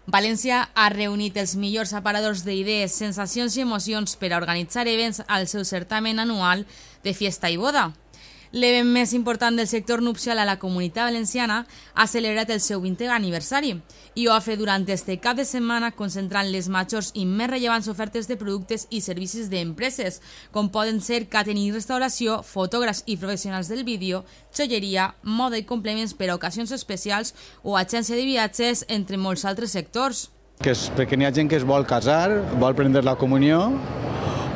València ha reunit els millors aparadors d'idees, sensacions i emocions per a organitzar events al seu certamen anual de Fiesta i Boda. L'event més important del sector nupcial a la Comunitat Valenciana ha celebrat el seu 20è aniversari i ho ha fet durant este cap de setmana concentrant les majors i més rellevants ofertes de productes i servicis d'empreses, com poden ser catering i restauració, fotògrafs i professionals del vídeo, joieria, moda i complements per a ocasions especials o agència de viatges, entre molts altres sectors. Perquè n'hi ha gent que es vol casar, vol prendre la comunió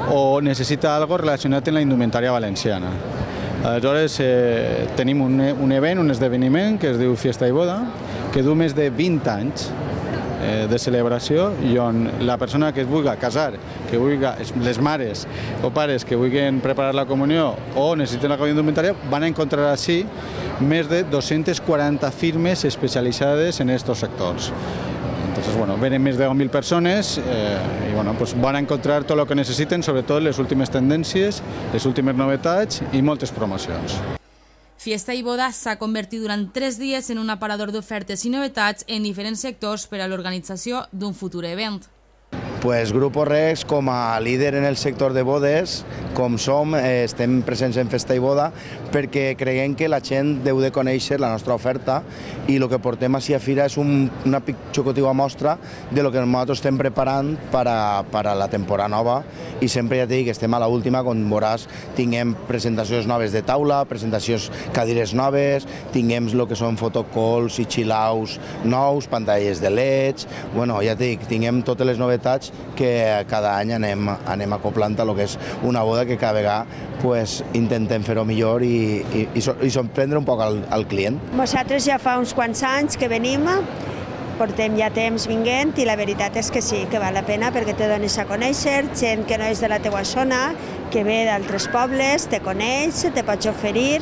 o necessita alguna cosa relacionat amb la indumentària valenciana. Aleshores tenim un event, un esdeveniment que es diu Fiesta i Boda, que du més de 20 anys de celebració i on la persona que es vulgui casar, que vulgui, les mares o pares que vulguin preparar la comunió o necessiten la comunió indumentària, van a encontrar així més de 240 firmes especialitzades en aquests sectors. Entonces, vienen més de 10.000 persones y van a encontrar tot el que necessiten, sobretot les últimes tendències, les últimes novetats i moltes promocions. Fiesta i Boda s'ha convertit durant 3 dies en un aparador d'ofertes i novetats en diferents sectors per a l'organització d'un futur event. Grupo Rex, com a líder en el sector de bodes, com som, estem presents en Festa i Boda perquè creiem que la gent deu de conèixer la nostra oferta i el que portem així a Fira és una xocotiva mostra de lo que nosaltres estem preparant per a la temporada nova i sempre ja t'he dit que estem a l'última, com veuràs, tinguem presentacions noves de taula, presentacions cadires noves, tinguem el que són fotocalls i chill-outs nous, pantalles de LEDs, ja t'he dit, tinguem totes les novetats que cada any anem acoplant a lo que és una boda que cada vegada intentem fer-ho millor i sorprendre un poc al client. Nosaltres ja fa uns quants anys que venim, portem ja temps vinguent i la veritat és que sí, que val la pena perquè te dones a conèixer, gent que no és de la teua zona, que ve d'altres pobles, te coneix, te pots oferir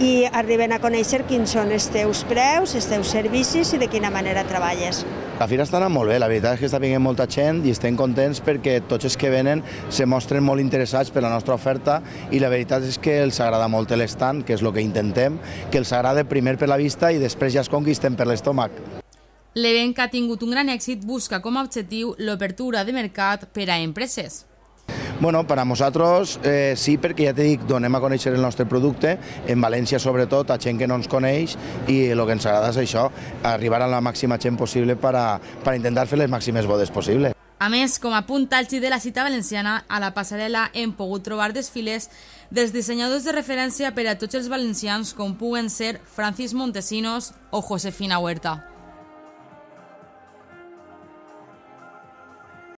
i arriben a conèixer quins són els teus preus, els teus servicis i de quina manera treballes. La fira està anant molt bé, la veritat és que està venint molta gent i estem contents perquè tots els que venen se mostren molt interessats per la nostra oferta i la veritat és que els agrada molt l'estand, que és el que intentem, que els agrada primer per la vista i després ja es conquisten per l'estómac. L'event, que ha tingut un gran èxit, busca com a objectiu l'obertura de mercat per a empreses. Per a nosaltres sí, perquè ja t'he dit, donem a conèixer el nostre producte, en València sobretot, a gent que no ens coneix i el que ens agrada és això, arribar a la màxima gent possible per a intentar fer les màximes bodes possibles. A més, com a punt àlgid de la cita valenciana, a la passarel·la hem pogut trobar desfiles dels dissenyadors de referència per a tots els valencians com puguen ser Francis Montesinos o Josefina Huerta.